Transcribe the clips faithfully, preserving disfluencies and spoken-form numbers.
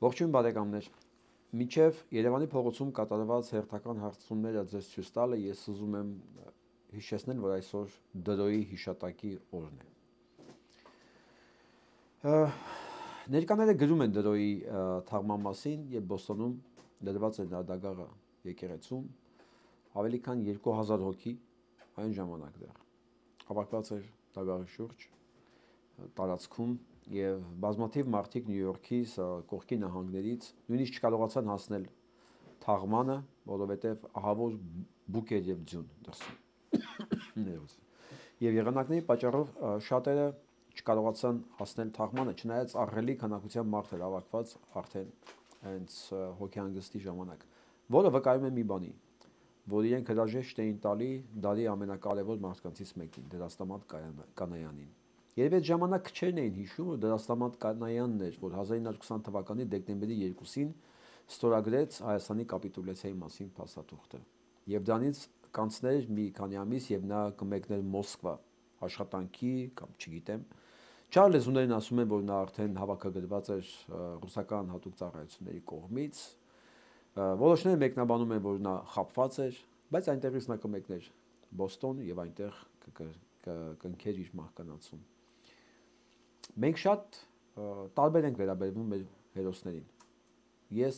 Ողջույն բարեկամներ, մինչև Երևանի փողոցում կատարված հերթական հարցումները ձեզ ցույց տալը ես ուզում եմ հիշեցնել, որ այսօր Դրոյի հիշատակի օրն է։ Ներկաները գրում են Դրոյի թաղման մասին եւ Բոստոնում դրված է դագաղը եկեղեցում ավելի քան երկու հազար հոգի այն ժամանակ դեռ հավաքված էր դագաղի շուրջ տարածքում եւ բազմաթիվ մարդիկ Նյու Յորքից, կողքի նահանգներից նույնիսկ չկարողացան հասնել թաղմանը, որովհետեւ ահավոր բուկ էր եւ ձյուն դրսում։ Եվ եղանակների պատճառով շատերը չկարողացան հասնել թաղմանը, չնայած ահռելի քանակությամբ մարդ էր հավաքված արդեն հենց հոգեհանգստի ժամանակ, որը վկայում է մի բանի, որ իրենք հրաժեշտ էին տալի դարի ամենակարևոր մարդկանցից մեկին, Դերաստամատ Կանայանին։ Երբ այդ ժամանակ քչերն էին հիշում, որ Դերաստամատ Կանայանն էր, որ հազար ինը հարյուր քսան թվականի դեկտեմբերի երկուսին ստորագրեց Հայաստանի կապիտուլյացիայի մասին փաստաթուղթը։ Եվ դրանից կանցներ մի քանի ամիս եւ նա կմեկներ Մոսկվա աշխատանքի կամ չգիտեմ։ Չար լեզուներն ասում են, որ նա արդեն հավաքագրված էր ռուսական հատուկ ծառայությունների կողմից։ Որոշները մեկնաբանում են, որ նա խաբված էր, բայց այնտեղից նա կմեկներ Բոստոն եւ այնտեղ կընկեր իր մահկանացուն։ Մենք շատ տարբեր ենք վերաբերվում մեր հերոսներին։ Ես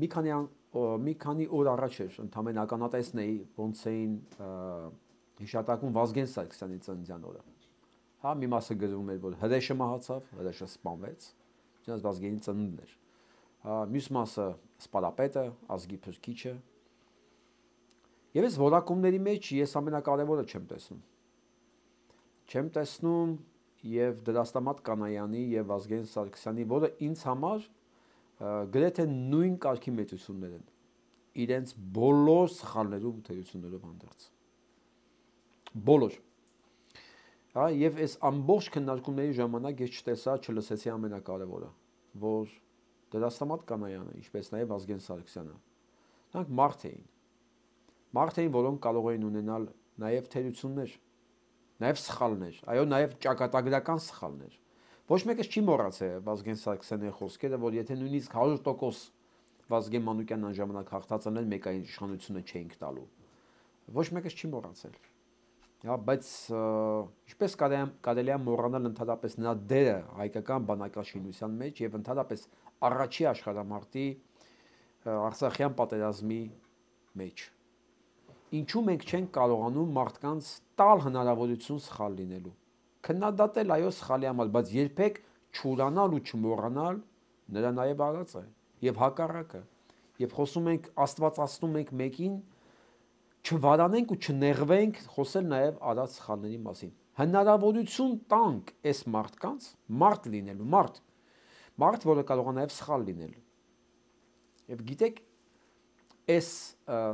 մի քանի մի քանի օր առաջ էր ընդհանրեն ականատեսն էի, ոնց էին հիշատակում Վազգեն Սարգսյանի ծննդյան օրը։ Հա, մի մասը գրում էր, որ հրեշը մահացավ, հրեշը սպանվեց, չնայած Վազգենի ծնունդն էր։ Հա, մյուս մասը սպարապետը, ազգի փրկիչը։ Եվ այս որակումների մեջ ես ամենակարևորը չեմ տեսնում։ Չեմ տեսնում եւ Դերաստամատ Կանայանի եւ Վազգեն Սարգսյանի, որը ինձ համար գրեթե նույն կարգի մեծություններ են, իրենց բոլոր սխալներով ու թերություններով հանդերձ։ Բոլոր։ Հա, եւ այս ամբողջ քննարկումների ժամանակ ես չտեսա, չլսեցի ամենակարևորը, որ Դերաստամատ Կանայանը, ինչպես նաեւ Վազգեն Սարգսյանը, նրանք մարդ էին։ Մարդ էին, որոնք կարող էին ունենալ նաեւ թերություններ, նաեւ սխալներ, այո, նաեւ ճակատագրական սխալներ։ Ոչ մեկը չի մոռացել Վազգեն Սարգսյանի խոսքերը, որ եթե նույնիսկ հարյուր տոկոս Վազգեն Մանուկյանն այն ժամանակ հաղթածն էր, մեկ այն իշխանությունը չէինք տալու։ Ոչ մեկը չի մոռացել։ Հա, բայց ինչպես կարելի է մոռանալ ընդհանրապես նրա դերը հայկական բանակաշինության մեջ եւ ընդհանրապես առաջի աշխարհամարտի Արցախյան պատերազմի մեջ։ Ինչու մենք չենք կարողանում մարդկանց տալ հնարավորություն սխալ լինելու։ Քննադատել այո սխալի համար, բայց երբեք չուրանալ ու չմոռանալ նրա նաև արած է եւ հակառակը։ Եվ խոսում ենք աստվածացնում ենք մեկին, չվարանենք ու չնեղվենք խոսել նաև արած սխալների մասին։ Հնարավորություն տանք այս մարդկանց մարդ լինելու, մարդ, մարդ, որը կարող է նաև սխալ լինել։ Եվ գիտեք, այս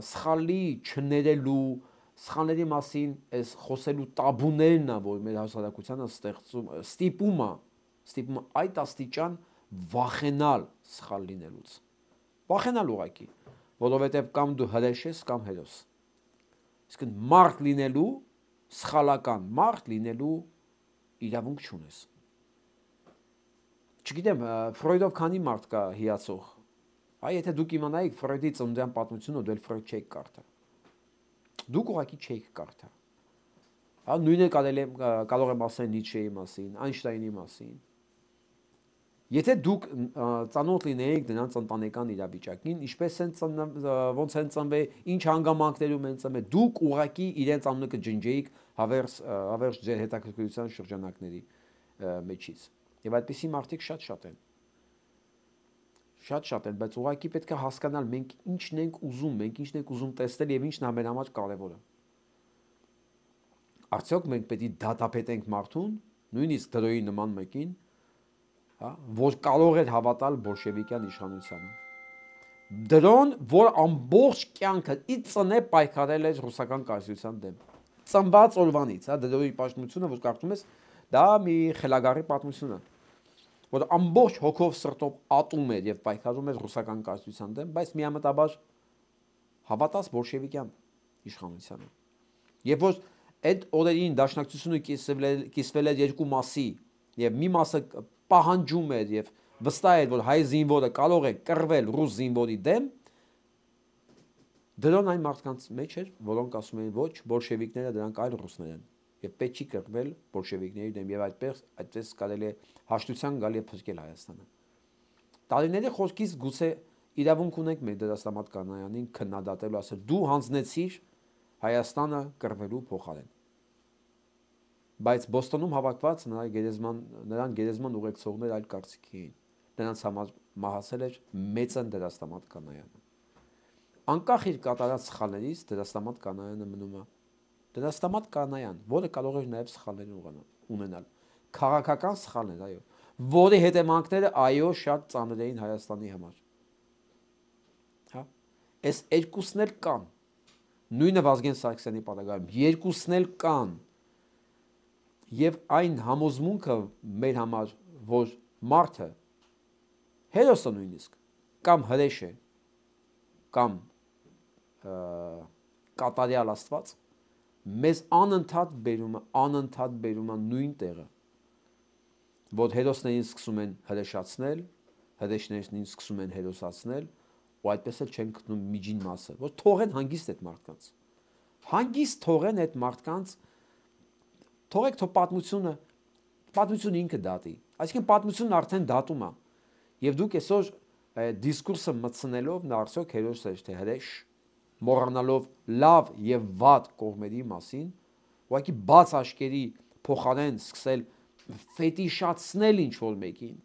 սխալի չներելու, սխալների մասին այս խոսելու տաբուներն է, որ մեր հասարակությանը ստեղծում, ստիպում է, ստիպում է այդ աստիճան վախենալ սխալ լինելուց։ Վախենալ ուղղակի, որովհետև կամ դու հրեշ ես, կամ հերոս։ Իսկ մարդ լինելու, սխալական մարդ լինելու իրավունք չունես։ Չգիտեմ, Ֆրոյդով քանի մարդ կա հիացող։ Այ եթե դուք իմանայիք Ֆրոյդի ծննդյան պատմությունը, դու էլ Ֆրոյդ չեք կարդա։ Դուք ուղղակի չեք կարդա։ Հա, նույնը կարելի է կարող եմ ասել Նիցշեի մասին, Այնշտայնի մասին։ Եթե դուք ծանոթ լինեիք նրանց ընտանեկան իրավիճակին, ինչպես են ոնց են ծնվել, ինչ հանգամանքներում են ծնվել, դուք ուղղակի իրենց անունը կջնջեիք հավերժ հավերժ ձեր հետաքրքրության շրջանակների մեջից։ Եվ այդպիսի մարդիկ շատ-շատ են։ Շատ-շատ են, բայց ուղղակի պետք է հասկանալ մենք ինչն ենք ուզում, մենք ինչն ենք ուզում տեսնել եւ ինչն է մեր համար կարեւորը։ Արդյոք մենք պետք է դատապետենք մարդուն, նույնիսկ Դրոյի նման մեկին, հա, որ կարող էր հավատալ բոլշևիկյան իշխանությանը։ Դրոն, որ ամբողջ կյանքը ի ծնե պայքարել էր ռուսական կայսրության դեմ։ Ծնված օրվանից, հա, Դրոյի պատմությունը, որ կարդում ես, դա մի խելագարի պատմություն է, որ ամբողջ հոգով սրտով ատում էր եւ պայքարում էր ռուսական կայսրության դեմ, բայց միամտաբար հավատաց բոլշևիկյան իշխանությանը։ Եվ որ այդ օրերին դաշնակցությունը կիսվել էր երկու մասի, եւ մի մասը պահանջում էր եւ վստահ էր, որ հայ զինվորը կարող է կռվել ռուս զինվորի դեմ, դրան այն մարդկանց մեջ էր, որոնք ասում էին ոչ, բոլշևիկները դրանք այլ ռուսներ են եւ պետք չի կռվել բոլշևիկների դեմ եւ այդպես այդպես կարելի է հաշտության գալ եւ փրկել Հայաստանը։ Տարիների խոսքից գուցե իրավունք ունենք մեր դերասանատ Կանայանին քննադատելու, ասել դու հանձնեցիր Հայաստանը կռվելու փոխարեն։ Բայց Բոստոնում հավաքված նրա գերեզման նրան գերեզման ուղեկցողներ այլ կարծիքի էին։ Նրանց համար մահացել էր մեծն դերասանատ Կանայանը։ Անկախ իր կատարած սխալներից դերասանատ Կանայանը մնում է դերասանատ Կանայան, որը կարող էր նաև սխալներ ունենալ։ Քաղաքական սխալներ, այո, որի հետևանքները այո շատ ծանր էին Հայաստանի համար։ Հա, այս երկուսն էլ կան։ Նույնը Վազգեն Սարգսյանի պարագայում երկուսն էլ կան։ Եվ այն համոզմունքը մեր համար, որ մարդը հերոսը նույնիսկ կամ հրեշ է, կամ կատարյալ Աստված, մեզ անընդհատ բերում է, անընդհատ բերում է նույն տեղը, որ հերոսներին սկսում են հրեշացնել, հրեշներին սկսում են հերոսացնել, ու այդպես էլ չեն գտնում միջին մասը, որ թողեն հանգիստ այդ մարդկանց։ Հանգիստ թողեն այդ մարդկանց, թողեք թող պատմությունը, պատմությունը ինքը դատի, այսինքն պատմությունն արդեն դատում է, եւ դուք այսօր դիսկուրսը մտցնելով նա արդյոք հերոս է թե հրեշ, մոռանալով լավ եւ վատ կողմերի մասին, ուղղակի բաց աչքերի փոխարեն սկսել ֆետիշացնել ինչ-որ մեկին,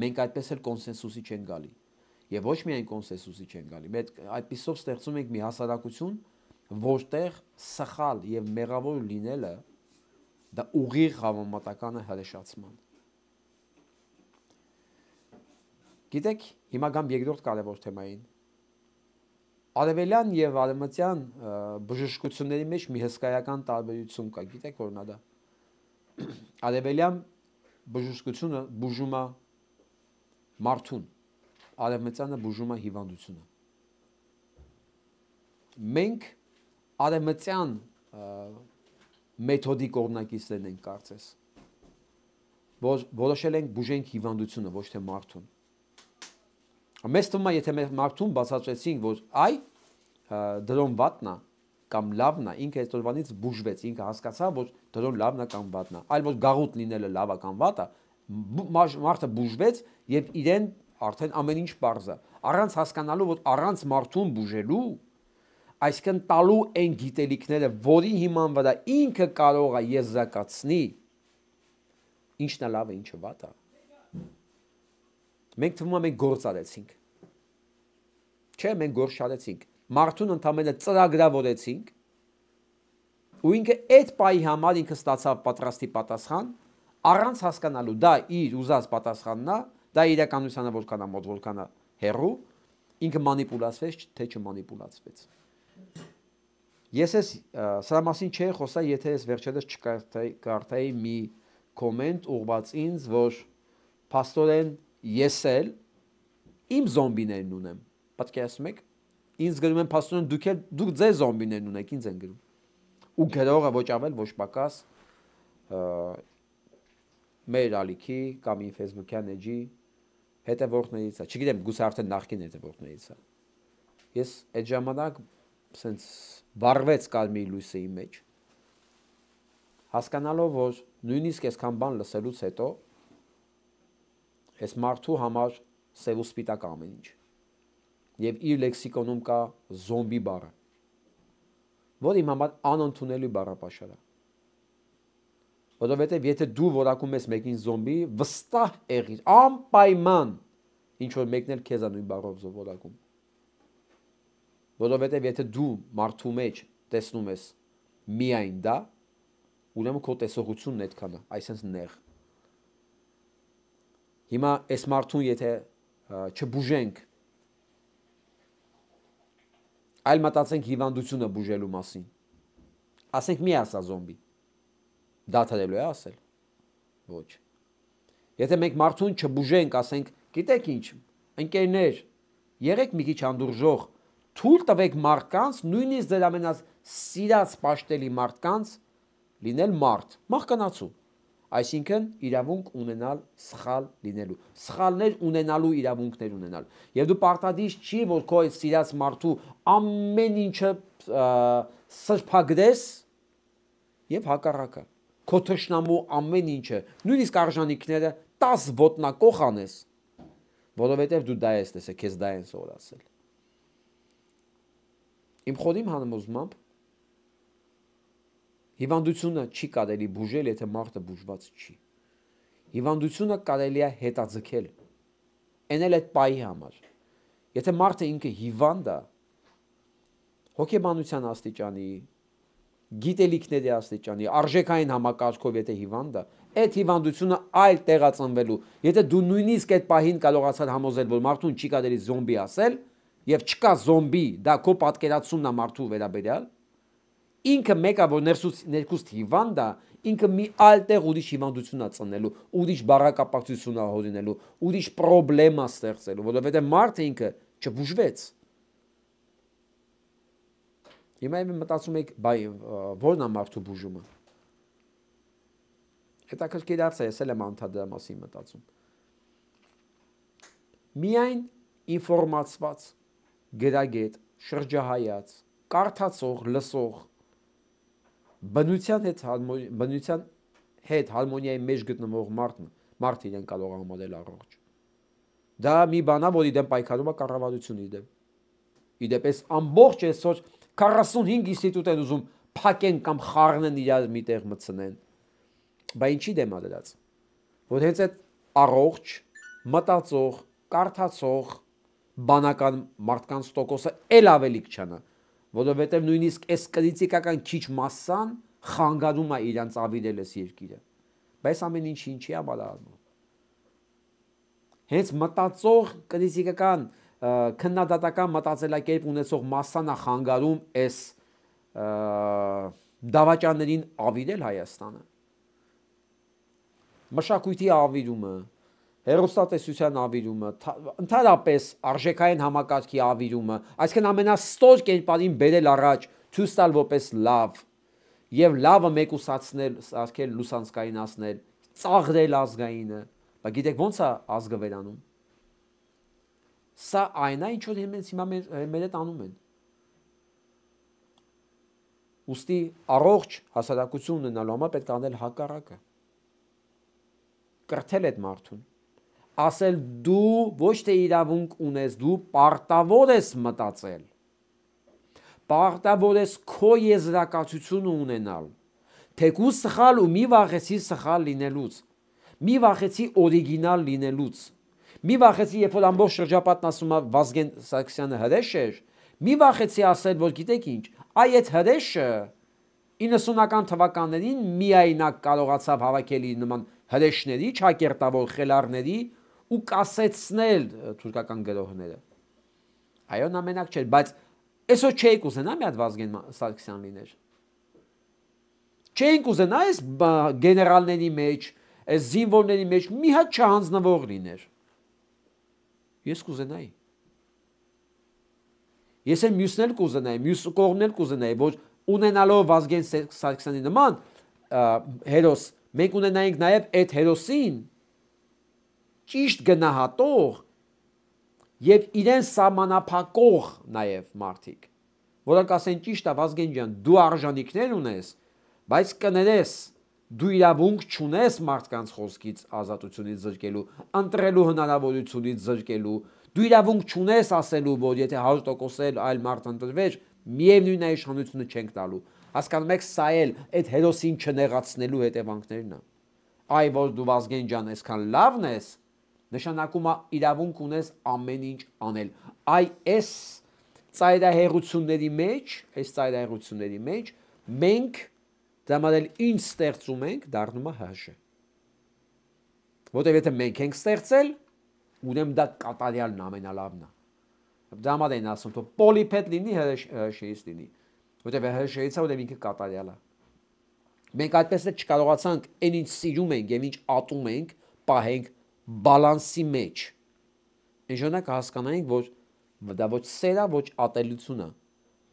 մենք այդպես էլ կոնսենսուսի չեն գալի, եւ ոչ միայն կոնսենսուսի չեն գալի, մենք այդպիսով ստեղծում ենք մի հասարակություն, որտեղ սխալ եւ մեղավոր լինելը դա ուղիղ համեմատական է հրեշացման։ Գիտեք, հիմա գամ երկրորդ կարևոր թեմային։ Արևելյան եւ արևմտյան բժշկությունների մեջ մի հսկայական տարբերություն կա, գիտեք որն է դա։ Արևելյան բժշկությունը բուժում է մարդուն, արևմտյանը բուժում է հիվանդությունը։ Մենք արևմտյան մեթոդի կողմնակիցներն ենք կարծես, որ որոշել ենք բուժենք հիվանդությունը, ոչ թե մարդուն։ Մեզ թվում է, եթե մեր մարդուն բացատրեցինք, որ այ դրոն վատն է կամ լավն է, ինքը այդ օրվանից բուժվեց, ինքը հասկացավ, որ դրոն լավն է կամ վատն է, այլ որ գաղութ լինելը լավ է կամ վատ է, մարդը բուժվեց եւ իրեն արդեն ամեն ինչ պարզ է, առանց հասկանալու, որ առանց մարդուն բուժելու, այսինքն տալու այն գիտելիքները, որի հիման վրա ինքը կարող է եզրակացնի, ինչն է լավ է, ինչը վատ է։ Մենք թվում է մենք գործ արեցինք։ Չէ, մենք գործ չարեցինք։ Մարդուն ընդամենը ծրագրավորեցինք, ու ինքը այդ պայի համար ինքը ստացավ պատրաստի պատասխան, առանց հասկանալու դա իր ուզած պատասխանն է, դա իրականությանը որքան է մոտ, որքան է հեռու, ինքը մանիպուլացվեց, թե չմանիպուլացվեց։ Ես ես սրա մասին չէի խոսա, եթե ես վերջերս չկարդայի մի կոմենտ ուղղված ինձ, որ փաստորեն ես էլ իմ զոմբիներն ունեմ, պատկերացնում եք, ինձ գրում են փաստորեն դուք էլ դուք ձեր զոմբիներն ունեք, ինձ են գրում, ու գրողը ոչ ավել, ոչ պակաս մեր ալիքի կամ իմ Facebook-յան էջի հետևորդներից է, չգիտեմ, գուցե արդեն նախկին հետևորդներից է։ Ես այդ ժամանակ սենց վառվեց կարմիր լույսը իմ մեջ, հասկանալով, որ նույնիսկ այսքան բան լսելուց հետո այս մարդու համար սև ու սպիտակ ամեն ինչ։ Եվ իր լեքսիկոնում կա զոմբի բառը, որ իմ համար անընդունելի բառապաշար է։ Որովհետև եթե դու որակում ես մեկին զոմբի, վստահ եղիր, անպայման ինչ որ մեկն էլ քեզ է նույն բառով որակում։ Որովհետև եթե դու մարդու մեջ տեսնում ես միայն դա, ուրեմն քո տեսողությունն այդքան է, այսինքն նեղ։ Հիմա այս մարդուն եթե չբուժենք, այլ մտածենք հիվանդությունը բուժելու մասին, ասենք մի ասա զոմբի, դադարելու է ասել, ոչ։ Եթե մենք մարդուն չբուժենք, ասենք, գիտեք ինչ, ընկերներ, եղեք մի քիչ անդուրժող, թույլ տվեք մարդկանց, նույնիսկ ձեր ամենասիրած պաշտելի մարդկանց լինել մարդ, մահկանացու։ Այսինքն իրավունք ունենալ սխալ լինելու, սխալներ ունենալու իրավունքներ ունենալ։ Եվ դու պարտադիր չի, որ քո սիրած մարդու ամեն ինչը սրբագրես եւ հակառակը։ Քո թշնամու ամեն ինչը, նույնիսկ արժանինքները տաս ոտնակող անես, որովհետեւ դու դա ես տեսել, քեզ դա են սովորացել։ Իմ խորին համոզմամբ հիվանդությունը չի կարելի բուժել, եթե մարդը բուժված չի։ Հիվանդությունը կարելի է հետաձգել։ Այն էլ այդ պահի համար։ Եթե մարդը ինքը հիվանդ է, հոգեբանության աստիճանի, գիտելիքների աստիճանի, արժեքային համակարգով եթե հիվանդ է, այդ հիվանդությունը այլ տեղածնվելու։ Եթե դու նույնիսկ այդ պահին կարողացար համոզել, որ մարդուն չի կարելի զոմբի ասել, եւ չկա զոմբի, դա քո պատկերացումն է մարդու վերաբերյալ, ինքը մեկը որ ներքուստ հիվանդ է, ինքը մի այլ տեղ ուրիշ հիվանդություն է ծնելու, ուրիշ բառակապակցություն է հորինելու, ուրիշ պրոբլեմ է ստեղծելու, որովհետեւ մարդը ինքը չբուժվեց։ Հիմա եմ մտածում եք, բայ ո՞րն է մարդու բուժումը։ Հետաքրքիր հարց է, ես էլ եմ անդադար մասին մտածում։ Միայն ինֆորմացված, գրագետ, շրջահայաց, կարդացող, լսող, բնության հետ բնության հետ հարմոնիայի մեջ գտնվող մարդն, մարդը իրեն կարող է համարել առողջ։ Դա մի բան է, որ իդեմ պայքարում է կառավարությունը իդեմ։ Իդեպ էս ամբողջ այսօր քառասունհինգ ինստիտուտ են ուզում փակեն կամ խառնեն իրար մի տեղ մտցնեն։ Բա ինչի դեմ է դրած։ Որ հենց այդ առողջ, մտածող, կարդացող, բանական մարդկանց տոկոսը էլ ավելի քչանա, որովհետև նույնիսկ այս կրիտիկական քիչ մասսան խանգարում է իրանց ավիրել այս երկիրը։ Բայց ամեն ինչի ինչի է բալարանում։ Հենց մտածող կրիտիկական քննադատական մտածելակերպ ունեցող մասսան է խանգարում այս դավաճաններին ավիրել Հայաստանը։ Մշակույթի ավիրումը, հեռուստատեսության ավիրումը, ընդհանրապես արժեքային համակարգի ավիրումը, այսինքն ամենաստոր կերպարին բերել առաջ, ցույց տալ որպես լավ, եւ լավը մեկուսացնել, ասել լուսանցկայինացնել, ծաղրել ազգայինը, բայց գիտեք ո՞նց է ազգը վերանում։ Սա այն է, ինչ որ հենց հիմա մեր հետ անում են։ Ոստի առողջ հասարակություն ունենալու համար պետք է անել հակառակը։ Կրթել այդ մարդուն, ասել դու ոչ թե իրավունք ունես, դու պարտավոր ես մտածել, պարտավոր ես քո եզրակացությունը ունենալ, թեկուզ սխալ ու մի վախեցի սխալ լինելուց, մի վախեցի օրիգինալ լինելուց, մի վախեցի, երբ որ ամբողջ շրջապատն ասում է Վազգեն Սարգսյանը հրեշ էր, մի վախեցի ասել, որ գիտեք ինչ, այ այդ հրեշը իննսունական թվականներին միայնակ կարողացավ հավաքել իր նման հրեշների, ճակերտավոր խելառների ու կասեցնել թուրքական գրողները։ Այո, նա մենակ չէր, բայց այսօր չէիք ուզենա մի հատ Վազգեն Սարգսյան լիներ։ Չէինք ուզենա այս գեներալների մեջ, այս զինվորների մեջ մի հատ չհանձնվող լիներ։ Ես կուզենայի։ Ես էլ մյուսն էլ կուզենայի, մյուս կողմն էլ կուզենայի, որ ունենալով Վազգեն Սարգսյանի նման հերոս, մենք ունենայինք նաև այդ հերոսին ճիշտ գնահատող եւ իրեն սահմանափակող նաև մարդիկ, որոնք ասեն ճիշտ է Վազգեն ջան, դու արժանինքներ ունես, բայց կներես դու իրավունք չունես մարդկանց խոսքից ազատությունից զրկելու, ընտրելու հնարավորությունից զրկելու, դու իրավունք չունես ասելու, որ եթե հարյուր տոկոս էլ այլ մարդ ընտրվեր, միևնույն է իշխանությունը չենք տալու։ Հասկանում եք, սա էլ այդ հերոսին չնեղացնելու հետևանքներն է։ Այ որ դու Վազգեն ջան այսքան լավն ես, նշանակում է իրավունք ունես ամեն ինչ անել։ Այ այս ծայրահեղությունների մեջ, այս ծայրահեղությունների մեջ մենք դամարել ինչ ստեղծում ենք, դառնում է հաշը։ Որտեւ եթե մենք ենք ստեղծել, ուրեմն դա կատարյալն ամենալավն է։ Դամար են ասում, թող պոլիպեդ լինի, հրեշեից լինի, որտեւ հրեշեից է, որտեւ ինքը կատարյալ է։ Մենք այդպես էլ չկարողացանք այն ինչ սիրում ենք եւ ինչ ատում ենք, պահենք բալանսի մեջ։ Այն ժամանակ հասկանանք, որ դա ոչ սեր է, ոչ ատելություն է։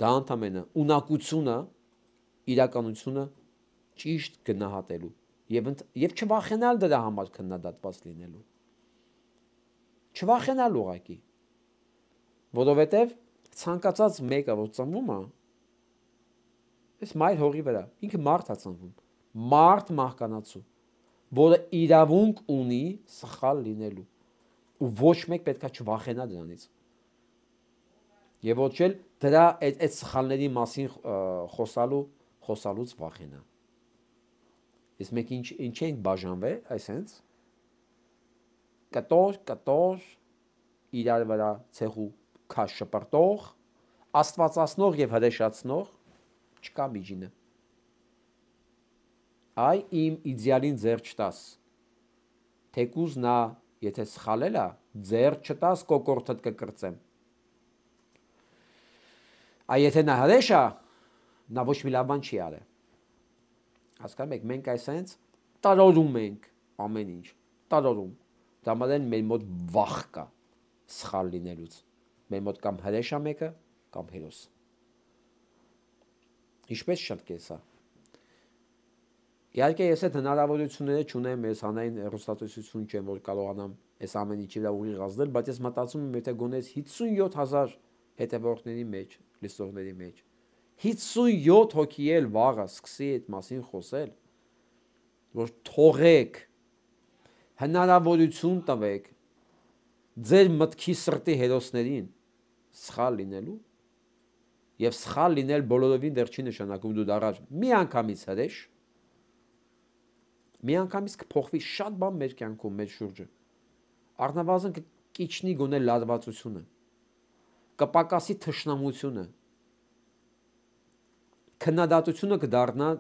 Դա ընդամենը ունակությունը, իրականությունը ճիշտ գնահատելու եւ եւ չվախենալ դրա համար քննադատված լինելու։ Չվախենալ ուղակի։ Որովհետեւ ցանկացած մեկը որ ծնվում է, այս մայր հողի վրա, ինքը մարդ է ծնվում, մարդ մահկանացու, որը իրավունք ունի սխալ լինելու, ու ոչ մեկ պետքա չվախենա դրանից։ Եվ ոչ էլ դրա այդ այդ սխալների մասին խոսալու խոսալուց վախենա։ Իսկ մենք ինչ ինչ ենք բաժանվել, այսենց կտոր, կտոր, իրար վրա ցեղու քաշ շպրտող, աստվածացնող եւ հրեշացնող չկա միջինը։ Այ իմ իդեալին ձեր չտաս։ Թեկուզ նա, եթե սխալել է, ձեր չտաս կոկորտդ կկրծեմ։ Այ եթե նա հրեշ է, նա ոչ մի լավ բան չի արել։ Հասկանում եք, մենք այսենց տարորում ենք ամեն ինչ, տարորում։ Դա մեն մեր մոտ վախ կա սխալ լինելուց։ Մեր մոտ կամ հրեշ է մեկը, կամ հերոս։ Ինչպես շտկե սա։ Իհարկե ես այդ հնարավորությունները չունեմ, ես հանային հեռուստատեսություն չեմ, որ կարողանամ այս ամեն ինչի վրա ուղիղ ազդել, բայց ես մտածում եմ, եթե գոնես հիսունյոթ հազար հետևորդների մեջ, լսողների մեջ, հիսունյոթ հոգի էլ վաղը սկսի այդ մասին խոսել, որ թողեք, հնարավորություն տվեք ձեր մտքի սրտի հերոսներին սխալ լինելու եւ սխալ լինել բոլորովին դեռ չի նշանակում դու դառար մի անգամից հրեշ, մի անգամից կփոխվի շատ բան մեր կյանքում, մեր շուրջը, առնվազն կիջնի գոնե լարվածությունը, կպակասի թշնամությունը, քննադատությունը կդառնա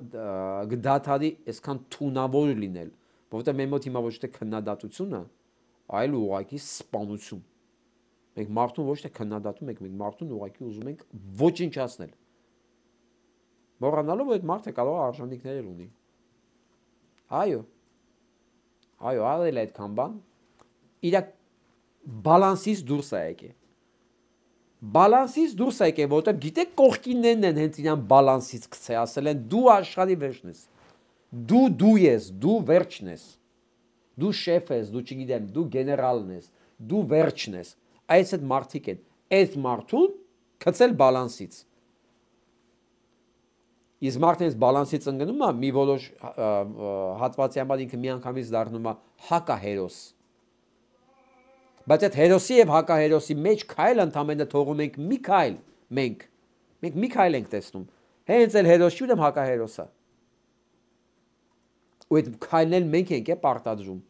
կդադարի այսքան թունավոր լինել, որովհետեւ մեր մոտ հիմա ոչ թե քննադատությունը, այլ ուղղակի սպանություն։ Մենք մարդուն ոչ թե քննադատում ենք, մենք մարդուն ուղղակի ուզում ենք ոչնչացնել։ Մոռանալով որ այդ մարդը կարող է արժանինքներ ունի։ Այո։ Այո, արել է այդքան բան։ Իր բալանսից դուրս է եկել։ Բալանսից դուրս է եկել, որովհետև գիտեք կողքիններն են հենց իրան բալանսից գցե, ասել են դու աշխարհի վերջն ես։ Դու դու ես, դու վերջն ես։ Դու շեֆ ես, դու չգիտեմ, դու գեներալն ես, դու վերջն ես։ Այս այդ մարդիկ են, այդ մարդուն գցել բալանսից։ Իսկ մարդն այս բալանսից ընկնում է, մի որոշ հատվածի համար ինքը միանգամից դառնում է հակահերոս։ Բայց այդ հերոսի եւ հակահերոսի մեջ քայլ ընդամենը թողում ենք մի քայլ, մենք։ Մենք մի քայլ ենք տեսնում։ Հենց էլ հերոսի ու հակահերոսը։ Ու այդ քայլն էլ մենք ենք է պարտադրում։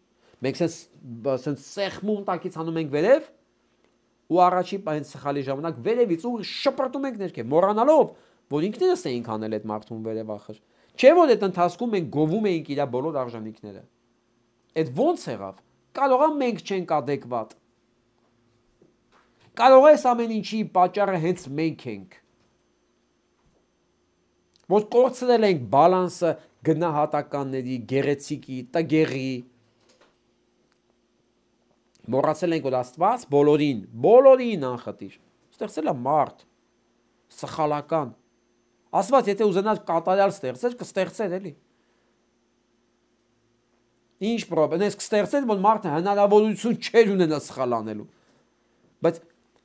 Մենք sense սեղմում տակից անում ենք վերև ու առաջի այն սխալի ժամանակ վերևից ու շպրտում ենք ներքև, մոռանալով, որ ինքներս էինք անել այդ մարդուն վերև ախր։ Չէ՞ որ այդ ընթացքում մենք գովում էինք իր բոլոր արժանինքները։ Այդ ո՞նց եղավ։ Կարող է մենք չենք adekvat։ Կարող է ամեն ինչի պատճառը հենց մենք ենք։ Որ կորցրել ենք բալանսը գնահատականների, գեղեցիկի, տգեղի։ Մոռացել ենք որ Աստված բոլորին, բոլորին անխտիր։ Ստեղծել է մարդ, սխալական։ Աստված եթե ուզենար կատարյալ ստեղծեր, կստեղծեր էլի։ Ինչ պրոբլեմ, ես կստեղծել, որ մարդը հնարավորություն չէր ունենա սխալ անելու։ Բայց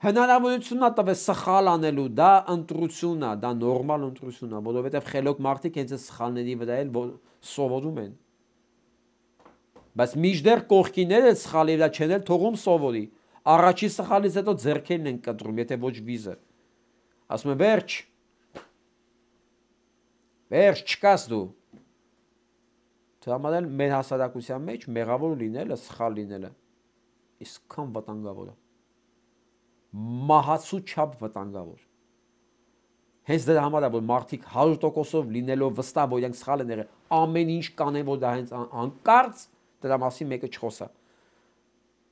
հնարավորությունն է տվել սխալ անելու, դա ընտրությունն է, դա նորմալ ընտրությունն է, որովհետև խելոք մարդիկ հենց սխալների վրա էլ սովորում են։ Բայց միշտեր կողքիները սխալի վրա չեն էլ թողում սովորի։ Առաջի սխալից հետո ձեռքերն են կտրում, եթե ոչ վիզը։ Ասում են վերջ։ Վերջ չկաս դու։ Համարել մեր հասարակության մեջ մեղավոր լինելը, սխալ լինելը իսկան վտանգավոր է։ Մահացու չափ վտանգավոր։ Հենց դրա համար է որ մարդիկ հարյուր տոկոսով լինելով վստահ որ իրենք սխալ են եղել, ամեն ինչ կանեն որ դա հենց անկարծ դրա մասին մեկը չխոսա։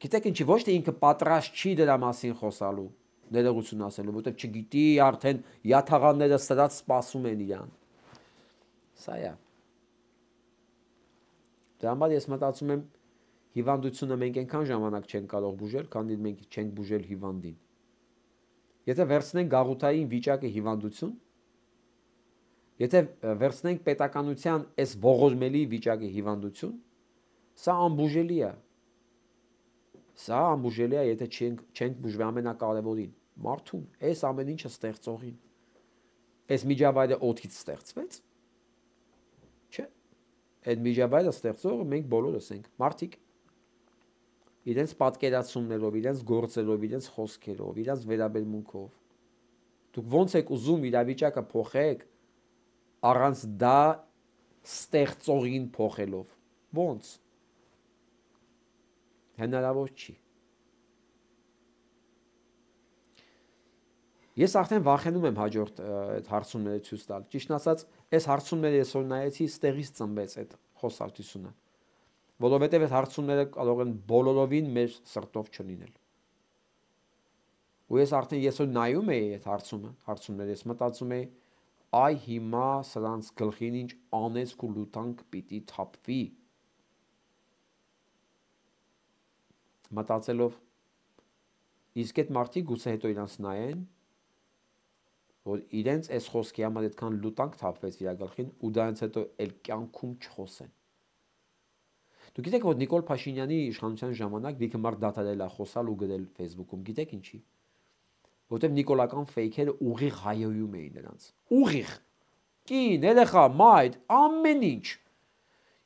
Գիտեք ինչի ոչ թե ինքը պատրաստ չի դրա մասին խոսալու, ներողություն ասելու, որտեղ չգիտի արդեն յաթաղանները սրած սպասում են իրան։ Սա է։ Դրա համար ես մտածում եմ հիվանդությունը մենք այնքան ժամանակ չենք կարող բուժել, քանի մենք չենք բուժել հիվանդին։ Եթե վերցնենք գաղութային վիճակը հիվանդություն, Եթե վերցնենք պետականության այս ողորմելի վիճակի հիվանդություն, սա անբուժելի է։ Սա անբուժելի է, եթե չենք չենք բուժվի ամենակարևորին, մարդուն, այս ամեն ինչը ստեղծողին։ Այս միջավայրը օդից ստեղծվեց։ Չէ։ Այդ միջավայրը ստեղծողը մենք բոլորս ենք, մարդիկ։ Իրենց պատկերացումներով, իրենց գործերով, իրենց խոսքերով, իրենց վերաբերմունքով։ Դուք ո՞նց եք ուզում իրավիճակը փոխեք առանց դա ստեղծողին փոխելով։ Ո՞նց։ Հնարավոր չի։ Ես արդեն վախենում եմ հաջորդ այդ հարցումները ցույց տալ։ Ճիշտ ասած, այս հարցումները ես որ նայեցի, ստեղից ծնվեց այդ խոսակցությունը։ Որովհետև այդ հարցումները կարող են բոլորովին մեր սրտով չլինել։ Ու ես արդեն ես որ նայում էի այդ հարցումը, հարցումները ես մտածում էի, այ հիմա սրանց գլխին ինչ անեծք ու լուտանք պիտի թափվի։ Մտածելով, իսկ այդ մարդիկ գուցե հետո իրանց նայեն, որ իրենց այս խոսքի համար այդքան լուտանք թափվեց իր գլխին ու դրանից հետո էլ կյանքում չխոսեն։ Դուք գիտեք, որ Նիկոլ Փաշինյանի իշխանության ժամանակ լիքը մարդ դադարել է խոսալ ու գրել Facebook-ում, գիտեք ինչի։ Որտեղ նիկոլական ֆեյքերը ուղիղ հայոյում էին նրանց։ Ուղիղ։ Կին, երեխա, մայր, ամեն ինչ։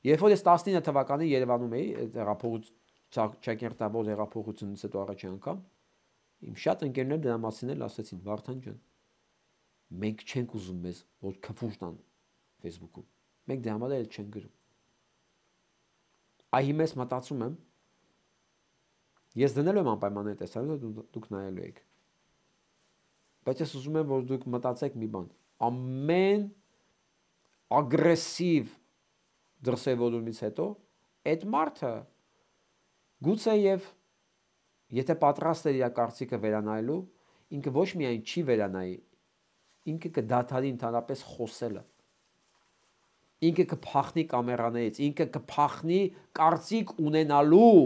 Երբ որ ես տասնինը թվականին Երևանում էի, հեղափոխության ճակերտավոր հեղափոխությունից հետո առաջի անգամ, իմ շատ ընկերներ դրա մասին էլ ասացին, Վարդան ջան, մենք չենք ուզում մեզ, որ քֆուր տան Facebook-ում։ Մենք դրա համար էլ չենք գրում։ Այ հիմա ես մտածում եմ, ես դնելու եմ անպայման այդ տեսանյութը, դուք նայելու եք։ Բայց ես ուզում եմ, որ դուք մտածեք մի բան, ամեն ագրեսիվ դրսևորումից հետո այդ մարդը գուցե եւ եթե պատրաստ է իր կարծիքը վերանայելու, ինքը ոչ միայն չի վերանայի, ինքը կդադարի ընդհանրապես խոսելը։ Ինքը կփախնի կամերաներից, ինքը կփախնի կարծիք ունենալու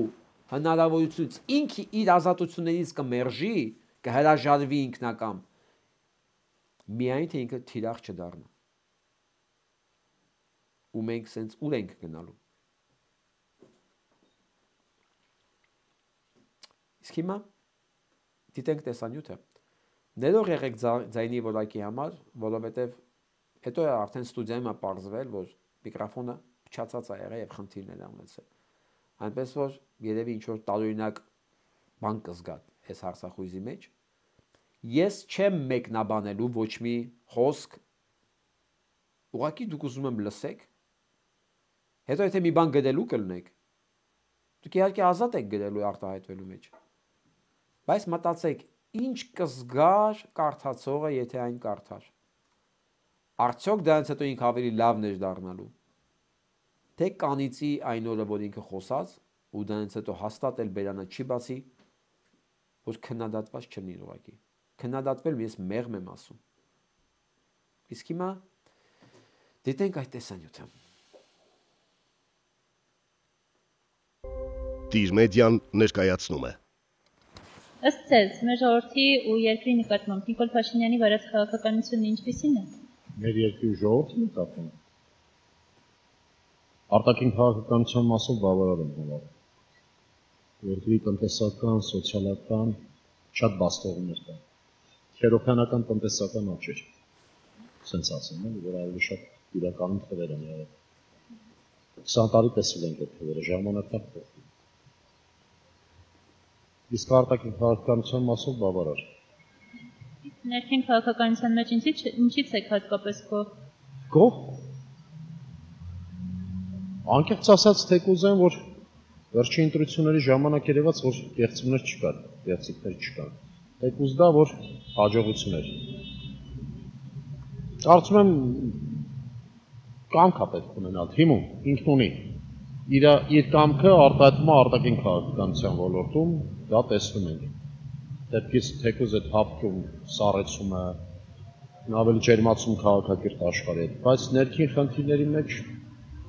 հնարավորությունից, ինքը իր ազատություններից կմերժի, կհրաժարվի ինքնակամ, միայն թե ինքը թիրախ չդառնա։ Ու մենք սենց ուր ենք գնալու։ Իսկ հիմա դիտենք տեսանյութը։ Ներող եղեք ձայնի որակի համար, որովհետև հետո արդեն ստուդիայում է պարզվել, որ միկրոֆոնը փչացած է եղել եւ խնդիրներ ունեցել։ Այնպես որ երևի ինչ որ տարօրինակ բան կզգա այս հարցախույզի մեջ։ Ես չեմ մեկնաբանելու ոչ մի խոսք, ուղղակի դուք ուզում եմ լսեք, հետո եթե մի բան գրելու կլնեք, դուք իհարկե ազատ եք գրելու արտահայտվելու մեջ, բայց մտածեք, ինչ կզգար կարդացողը, եթե այն կարդար, արդյոք դրանից հետո ինքը ավելի լավն էր դառնալու, թե կանիծի այն օրը, որ ինքը խոսած, ու դրանից հետո հաստատ էլ բերանը չի բացի, որ քննադատված չլինի ուղղակի։ Քննադատվել ես մեղմ եմ ասում։ Իսկ հիմա դիտենք այդ տեսանյութը։ Տիր մեդիան ներկայացնում է։ Ըստ ձեզ, մեր ժողովրդի ու երկրի նկատմամբ Նիկոլ Փաշինյանի վարած քաղաքականությունը ինչպիսին է։ Մեր երկրի ժողովրդի նկատմամբ արտաքին քաղաքականության մասով բավարար եմ համարում։ Երկրի տնտեսական, սոցիալական շատ բաստողներ կան։ Քերոքանական տնտեսական աճ էր։ Սենց ասեմ, որ ավելի շատ իրականում թվեր են եղել։ քսան տարի տեսել ենք այդ թվերը, ժամանակը փոխվում։ Իսկ արտաքին քաղաքականության մասով բավարար։ Ներքին քաղաքականության մեջ ինչից ինչից եք հատկապես գոհ։ Գոհ։ Անկեղծ ասած թեկուզ են, որ վերջին ընտրությունների ժամանակ երևաց, որ կեղծումներ չկան, կեղծիքներ չկան։ Թեկուզ դա, որ հաջողություն էր։ Կարծում եմ կամք է պետք ունենալ, թիմում, ինքն ունի։ Իր իր կամքը արտահայտվում է արտաքին քաղաքականության ոլորտում, դա տեսնում ենք։ Դեպքից թեկուզ այդ հապկում սառեցումը, ավելի ջերմացում քաղաքակիրթ աշխարհի հետ, բայց ներքին խնդիրների մեջ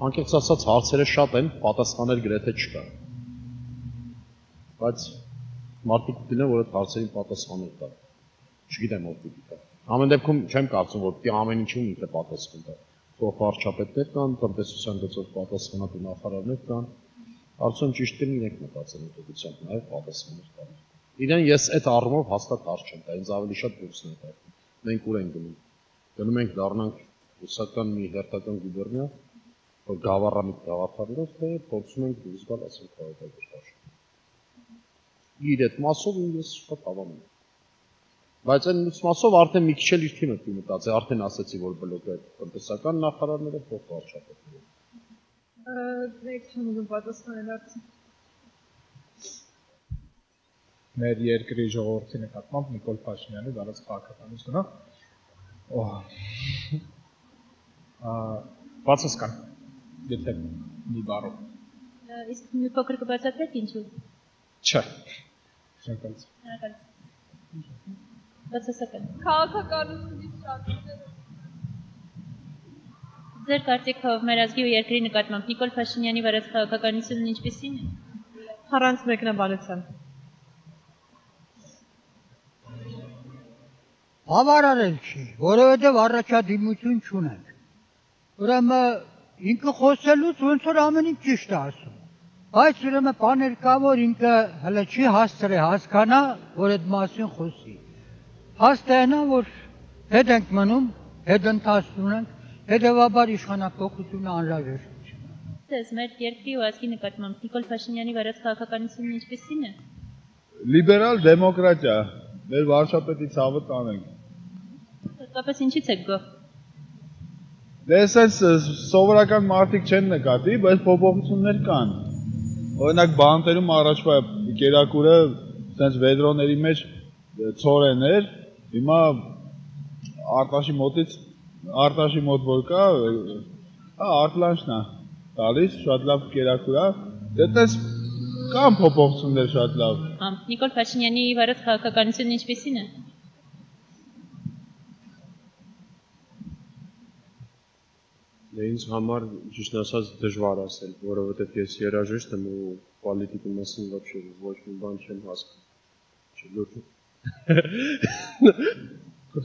անկեղծ ասած հարցերը շատ են, պատասխաններ գրեթե չկա։ Բայց մարդիկ դինեն, որ այդ հարցերին պատասխաններ տա։ Չգիտեմ ով պիտի տա։ Ամեն դեպքում չեմ կարծում, որ պիտի ամեն ինչում ինքը պատասխան տա։ Փոխվարչապետներ կան, տնտեսության գծով պատասխանատու նախարարներ կան։ Արդյոք ճիշտ են իրենք մտածեն ուղղությամբ, նաև պատասխաններ կան։ Իրեն ես այդ առումով հաստատ հարց չեմ տա, ինձ ավելի շատ դուրսն է տա։ Մենք ուր ենք գնում։ Գնում ենք դառնանք ռուսական մի հերթական գուբերնիա, որ գավառամիտ գաղափարներով թե փորձում ենք դուրս գալ ասել քաղաքական։ Իր այդ մասով ես շատ հավանում եմ։ Բայց այն մասով արդեն մի քիչ էլ իր թիմը պիտի մտածի, արդեն ասացի, որ բլոկը տնտեսական նախարարները փոխվարչապետները։ Դեք չեմ ուզում պատասխանել արդեն։ Մեր երկրի ժողովրդի նկատմամբ Նիկոլ Փաշինյանի դարած քաղաքականությունը բացասական, եթե մի բառով։ Իսկ մի փոքր կբացատրեք ինչու։ Չէ։ Շնորհակալություն։ Շնորհակալություն։ Բացասական։ Քաղաքականությունից շատ Ձեր կարծիքով մեր ազգի ու երկրի նկատմամբ Նիկոլ Փաշինյանի վարած քաղաքականությունն ինչպիսին է։ Առանց մեկնաբանության։ Բավարարել չի, որովհետև առաջադիմություն չունենք։ Ուրեմն ինքը խոսելուց ոնց որ ամեն ինչ ճիշտ է ասում։ Բայց ուրեմն բաներ կա, որ ինքը հələ չի հասցրել հասկանա, որ այդ մասին խոսի։ Հաստ է նա, որ հետ ենք մնում, հետ ընթացնում ենք, հետևաբար իշխանափոխությունը անհրաժեշտ չէ։ Ձեզ մեր երկրի ու ազգի նկատմամբ Նիկոլ Փաշինյանի վարած քաղաքականությունն ինչպիսին է։ Լիբերալ դեմոկրատիա, մեր վարչապետի ցավը տանենք։ Հատկապես ինչից եք գոհ։ Դե էսենց սովորական մարդիկ չեն նկատի, բայց փոփոխություններ կան։ Օրինակ բանտերում առաջվա կերակուրը սենց վեդրոների մեջ ցորեն էր, հիմա Արտաշի մոտից Արտաշի մոտ որ կա, հա արտլանչն է տալիս, շատ լավ կերակուր է, դետես կան փոփոխություններ շատ լավ։ Նիկոլ Փաշինյանի վարած քաղաքականությունն ինչպիսին է։ Դե ինձ համար ճիշտ ասած դժվար ասել, որովհետև ես երաժիշտ եմ ու պոլիտիկի մասին вообще ոչ մի բան չեմ հասկանում։ Չլուր։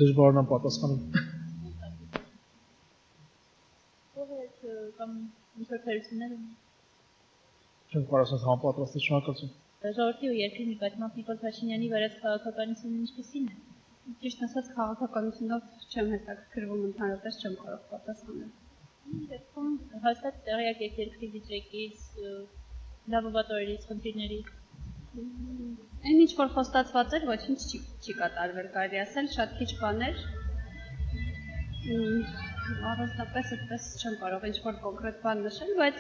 Դժվարն եմ պատասխանում։ Ո՞վ է կամ ինչ-որ թերություններ ունի։ Չեմ կարող ասել համապատրաստ շնորհակալություն։ Ժողովրդի ու երկրի նկատմամբ Նիկոլ Փաշինյանի վարած քաղաքականությունն ինչպիսին է։ Ճիշտ ասած քաղաքականությունով չեմ հետաքրքրվում, ընդհանրապես չեմ կարող պատասխանել։ Դեպքում հաստատ տեղյակ եք երկրի վիճակից, լավովատորից, խնդիրներից։ Այն ինչ որ խոստացված էր, ոչինչ չի չի կատարվել, կարելի ասել, շատ քիչ բաներ։ Առանձնապես այդպես չեմ կարող ինչ որ կոնկրետ բան նշել, բայց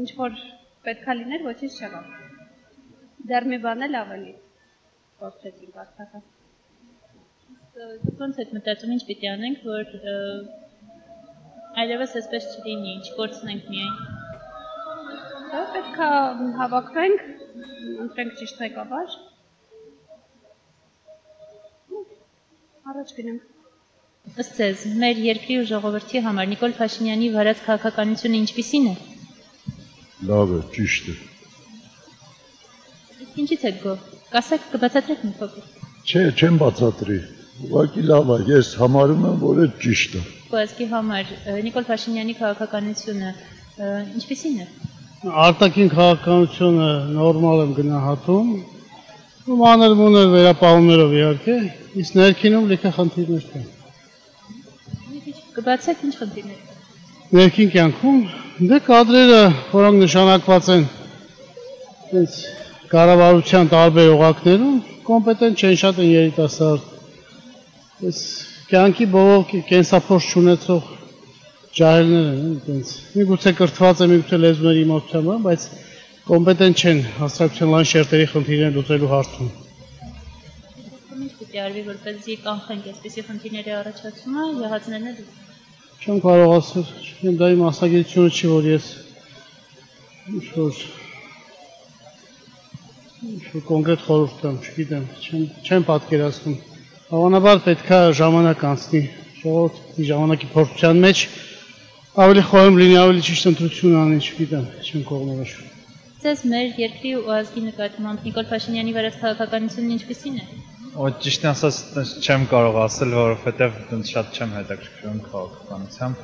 ինչ որ պետքա լիներ, ոչինչ չեղավ։ Դեռ մի բան էլ ավելի փոխեցինք արդյոք։ Ոնց եք մտածում, ինչ պիտի անենք, որ այլևս այսպես չլինի, չկորցնենք միայն։ Դա պետք է հավաքվենք, ընտրենք ճիշտ ղեկավար։ Առաջ գնանք։ Ըստ ձեզ, մեր երկրի ու ժողովրդի համար Նիկոլ Փաշինյանի վարած քաղաքականությունը ինչպիսին է։ Լավ է, ճիշտ է։ Իսկ ինչից եք գոհ։ Կասեք, կբացատրեք մի փոքր։ Չէ, չեմ բացատրի։ Ուղղակի լավ է, ես համարում եմ, որ այդ ճիշտ է։ Ազգի համար Նիկոլ Փաշինյանի քաղաքականությունը ինչպիսին է։ Արտաքին քաղաքականությունը նորմալ եմ գնահատում, ու մանր-մունր վերապահումներով իհարկե, իսկ ներքինում լիքը խնդիրներ կան։ Կբացեք ինչ խնդիրներ կան։ Ներքին կյանքում դե կադրերը, որոնք նշանակված են այնց կառավարության տարբեր օղակներում, կոմպետենտ չեն, շատ են երիտասարդ։ Այս կյանքի բողոք կենսափորձ չունեցող ջահելներ են, այնպես։ Միգուցե կրթված է, միգուցե լեզուների իմացությամբ, բայց կոմպետենտ չեն հասարակության լայն շերտերի խնդիրներ լուծելու հարցում։ Ինչ պիտի արվի, որպեսզի կանխենք այսպիսի խնդիրների առաջացումը, եղածներն էլ։ Չեմ կարող ասել, չգիտեմ, դա իմ մասնագիտությունը չի, որ ես ինչ-որ ինչ-որ կոնկրետ խորհուրդ տամ, չգիտեմ, չեմ պատկերացնում։ Հավանաբար պետք է ժամանակ անցնի, ժողովրդի ժամանակի փորձության մեջ ավելի խորհում լինի, ավելի ճիշտ ընտրություն անի, չգիտեմ, չեմ կողմնորոշում։ Ձեզ մեր երկրի ու ազգի նկատմամբ Նիկոլ Փաշինյանի վարած քաղաքականությունն ինչպիսին է։ Ու ճիշտ ասած չեմ կարող ասել, որովհետև ինձ շատ չեմ հետաքրքրում քաղաքականությամբ։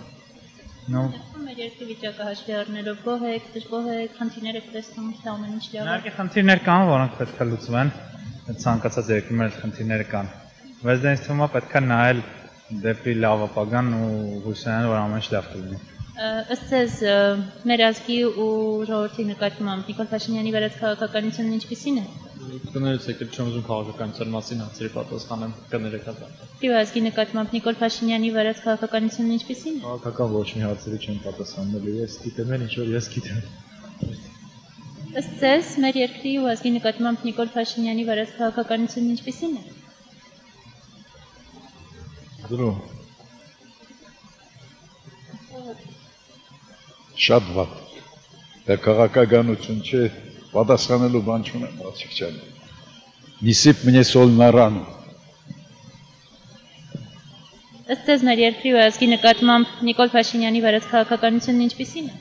Ну, մեր երկրի վիճակը հաշվի առնելով գոհ եք, դժգոհ եք, խնդիրներ եք տեսնում, թե ամեն ինչ լավ է։ Իհարկե խնդիրներ կան, որոնք պետք է լուծվեն, այդ ցանկացած երկրում էլ խնդիրներ կան։ Բայց դա ինձ թվում է պետք է նայել դեպի լավ ապագան ու հույս ունենալ, որ ամեն ինչ լավ կլինի։ Ըստ ձեզ, մեր ազգի ու ժողովրդի նկատմամբ Նիկոլ Փաշինյանի վերած քաղաքականությունն ինչպիսին է։ Կներեք, եկել չեմ ուզում քաղաքականության մասին հարցերի պատասխանեմ, կներեք հա։ Իու ազգի նկատմամբ Նիկոլ Փաշինյանի վերած քաղաքականությունն ինչպիսին է։ Քաղաքական ոչ մի հարցերի չեմ պատասխանել, ես գիտեմ ինչ որ ես գիտեմ։ Ըստ ձեզ, մեր երկրի ու ազգի նկատմամբ Նիկոլ Փաշինյանի վերած քաղաքականությունն ինչպիսին է։ Դրում շատ վատ։ Դա քաղաքականություն չէ, պատասխանելու բան չունեմ, բացիկ չեմ։ Նիսիպ мне соль на рану։ Ըստ ձեզ, մեր երկրի ու ազգի նկատմամբ Նիկոլ Փաշինյանի վերած քաղաքականությունն ինչպիսին է։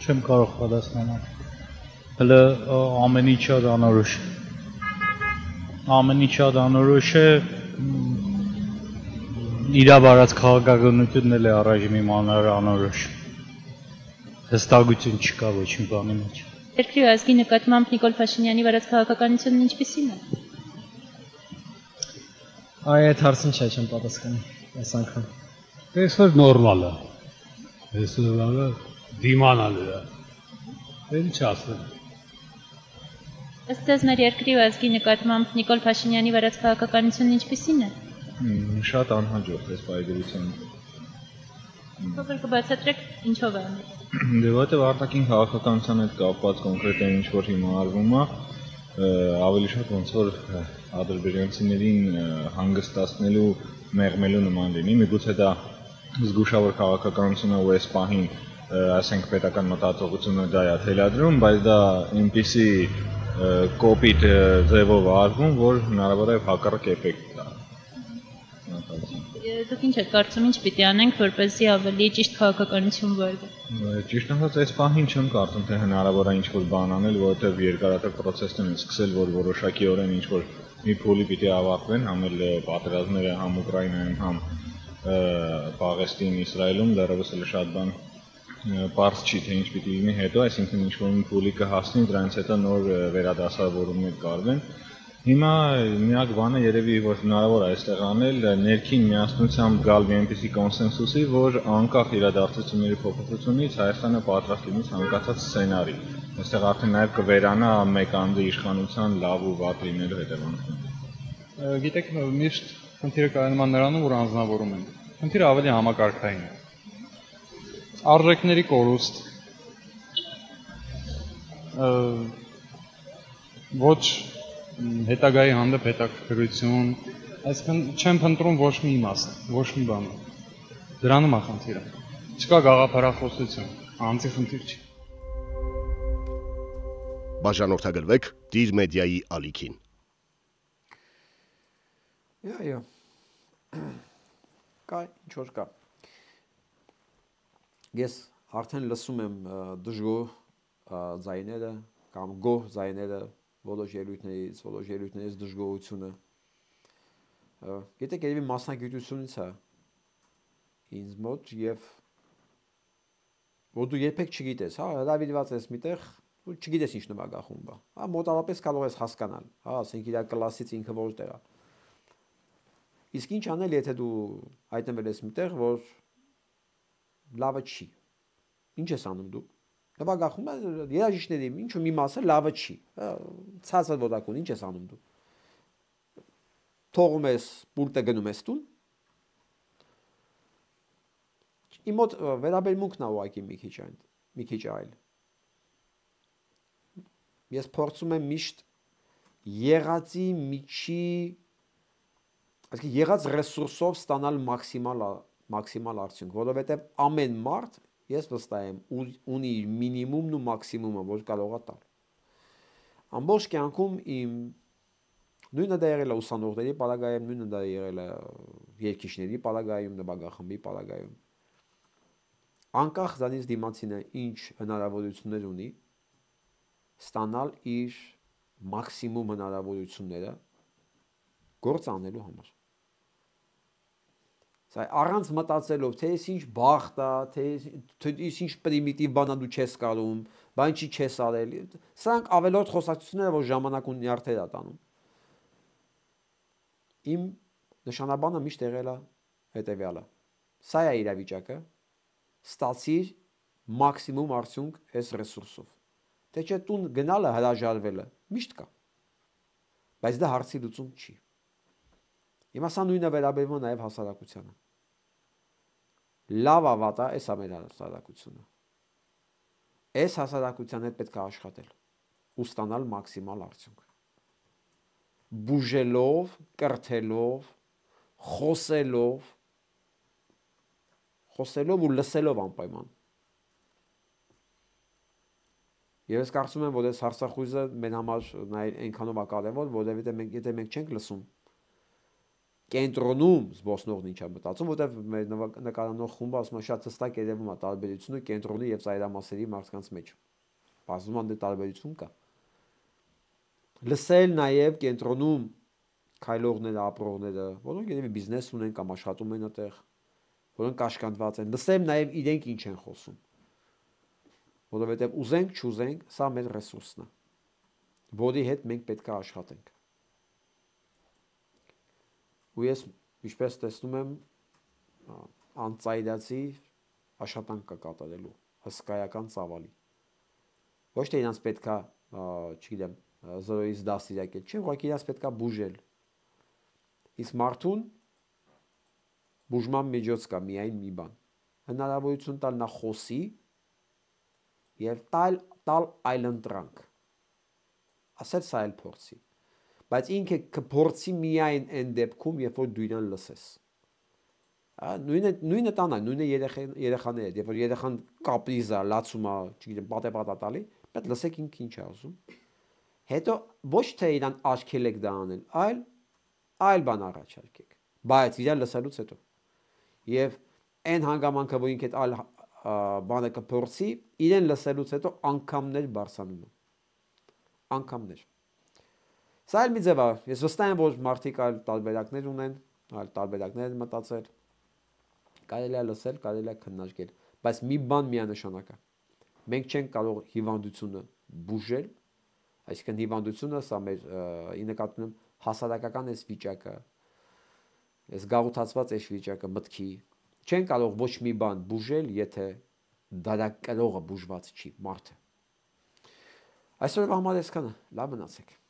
Չեմ կարող պատասխանել։ Հələ ամեն ինչը անորոշ։ Ամեն ինչը անորոշ է։ Իրա վարած քաղաքականությունն էլ է առայժմ իմանալը անորոշ։ Հստակություն չկա ոչ մի բանի մեջ։ Երկրի ու ազգի նկատմամբ Նիկոլ Փաշինյանի վերած քաղաքականությունն ինչպիսին է։ Այ այդ հարցին չէ չեմ պատասխանի այս անգամ։ Այսօր նորմալ է։ Այսօր դիմանալ է։ Ինչ ասեմ։ Ըստ ձեզ, մեր երկրի ու ազգի նկատմամբ Նիկոլ Փաշինյանի վերած քաղաքականությունն ինչպիսին է։ Շատ անհաջող է սպայգրությամբ։ Փոքր կբացատրեք ինչով է։ Դե որտեղ արտաքին քաղաքականության հետ կապված կոնկրետ ինչ որ հիմա արվում է, ավելի շատ ոնց որ ադրբեջանցիներին հանգստացնելու, մեղմելու նման լինի, միգուցե դա զգուշավոր քաղաքականությունը ու այս պահին, ասենք պետական մտածողությունը դա է թելադրում, բայց դա այնպիսի կոպիտ ձևով արվում, որ հնարավոր է հակառակ էֆեկտ տա։ Դուք ինչ եք կարծում, ինչ պիտի անենք, որպեսզի ավելի ճիշտ քաղաքականություն վարվի։ Ճիշտ ասած, այս պահին չեմ կարծում, թե հնարավոր է ինչ-որ բան անել, որովհետև երկարատև process-ն են սկսել, որ որոշակիորեն ինչ-որ մի փուլի պիտի ավարտվեն, համ էլ պատերազմները համ Ուկրաինայում, համ Պաղեստին, Իսրայելում, դեռևս էլ շատ բան պարզ չի, թե ինչ պիտի լինի հետո, այսինքն ինչ-որ մի փուլի կհասնի, դրանից հետո նոր վերադասավորումներ կարվեն։ Հիմա միակ բանը երևի որ հնարավոր է այստեղ անել ներքին միասնությամբ գալ մի այնպիսի կոնսենսուսի, որ անկախ իրադարձությունների փոփոխությունից Հայաստանը պատրաստ լինի ցանկացած սցենարի։ Այստեղ արդեն նաև կվերանա մեկ անձի իշխանության լավ ու վատ լինելու հետևանքները։ Գիտեք, միշտ խնդիրը կայանում է նրանում, որ անձնավորում են։ Խնդիրը ավելի համակարգային է։ Արժեքների կորուստ, ոչ հետագայի հանդեպ հետաքրքրություն, այսինքն չեմ փնտրում ոչ մի իմաստ, ոչ մի բան։ Դրանում է խնդիրը։ Չկա գաղափարախոսություն, անձի խնդիր չի։ Բաժանորդագրվեք Դիր մեդիայի ալիքին։ Այո։ Կա, ինչ որ կա։ Ես արդեն լսում եմ դժգոհ ձայները կամ գոհ ձայները որոշ ելույթներից, որոշ ելույթներից դժգոհությունը։ Գիտեք, երևի մասնագիտությունից է ինձ մոտ եւ որ դու երբեք չգիտես, հա, հրավիրված ես միտեղ, ու չգիտես ինչ նվագախումբ է։ Հա, մոտավորապես կարող ես հասկանալ, հա, ասենք իր կլասից ինքը որտեղ է։ Իսկ ինչ անել, եթե դու հայտնվել ես միտեղ, որ լավը չի։ Ինչ ես անում դու։ Նվագախումբը երաժիշտների ինչու մի մասը լավը չի։ Ցածր ոտակուն ինչ ես անում դու։ Թողում ես պուլտը գնում ես տուն։ Իմ մոտ վերաբերմունքն է ուղղակի մի քիչ այն, մի քիչ այլ։ Ես փորձում եմ միշտ եղածի միջի, այսինքն եղած ռեսուրսով ստանալ մաքսիմալ մաքսիմալ արդյունք, որովհետև ամեն մարդ ես վստահ եմ ունի իր մինիմումն ու մաքսիմումը, որ կարող է տալ։ Ամբողջ կյանքում իմ նույնը դա եղել է ուսանողների պարագայում, նույնը դա եղել է երգիչների պարագայում, նվագախմբի պարագայում։ Անկախ դրանից դիմացինը ինչ հնարավորություններ ունի, ստանալ իր մաքսիմում հնարավորությունները գործ անելու համար։ Սա առանց մտածելով, թե ես ինչ բախտ է, թե ես ինչ պրիմիտիվ բան դու չես կարում, բան չի չես արել։ Սրանք ավելորդ խոսակցությունները, որ ժամանակ ու նյարդեր է տանում։ Իմ նշանաբանը միշտ եղել է հետևյալը։ Սա է իրավիճակը, ստացիր մաքսիմում արդյունք այս ռեսուրսով։ Թե չէ տուն գնալը, հրաժարվելը միշտ կա։ Բայց դա հարցի լուծում չի։ Հիմա սա նույնը վերաբերվում է նաև հասարակությանը։ Լավ ավատա, այս է մեր հասարակությունը։ Այս հասարակության հետ պետք է աշխատել ու ստանալ մաքսիմալ արդյունք։ Բուժելով, կրթելով, խոսելով, խոսելով ու լսելով անպայման։ Եվ ես կարծում եմ, որ այս հարցախույզը մեր համար այնքանով է կարևոր, որովհետև մենք եթե մենք չենք լսում, կենտրոնում զբոսնողն ինչ է մտածում, որովհետև մեր նկարանող խումբը ասում է շատ հստակ երևում է տարբերությունը կենտրոնի եւ ծայրամասերի մարդկանց մեջ։ Բազում անդե տարբերություն կա։ Լսել նաև կենտրոնում քայլողները, ապրողները, որոնք երևի բիզնես ունեն կամ աշխատում են այդտեղ, որոնք կաշկանդված են, լսել նաև իրենք ինչ են խոսում։ Որովհետև ուզենք, չուզենք, սա մեր ռեսուրսն է, որի հետ մենք պետք է աշխատենք։ Ու ես ինչպես տեսնում եմ, անծայրացի աշխատանք կա կատարելու, հսկայական ծավալի։ Ոչ թե իրանց պետք է, չգիտեմ, զրոյից դաստիարակել, չէ, ուղղակի իրանց պետք է բուժել։ Իսկ մարդուն բուժման միջոց կա միայն մի բան։ Հնարավորություն տալ նա խոսի եւ տալ տալ այլընտրանք։ Ասել սա էլ փորձի։ Բայց ինքը կփորձի միայն այն դեպքում, երբ որ դու իրան լսես։ Նույնը նույնը տանա, նույնը երեխաները, երբ որ երեխան կապրիզ է, լացում է, չգիտեմ, պատեպատա տալի, պետք լսեք ինքը ինչ է ասում։ Հետո ոչ թե իրան աչքելեք դա անել, այլ այլ բան առաջարկեք։ Բայց իրան լսելուց հետո։ Եվ այն հանգամանքը, որ ինքը այլ բանը կփորձի, իրեն լսելուց հետո անգամներ բարձրանում է։ Անգամներ։ Սա էլ մի ձև է, ես վստահ եմ, որ մարդիկ այլ տարբերակներ ունեն, այլ տարբերակներ են մտածել, կարելի է լսել, կարելի է քննարկել, բայց մի բան միանշանակ է։ Մենք չենք կարող հիվանդությունը բուժել, այսինքն հիվանդությունը սա մեր ի նկատի ունեմ հասարակական այս վիճակը, այս գաղութացված այս վիճակը մտքի, չեն կարող ոչ մի բան բուժել, եթե դարակրողը բուժված չի, մարդը։ Այսօրվա համար այսքանը, լավ մնացեք։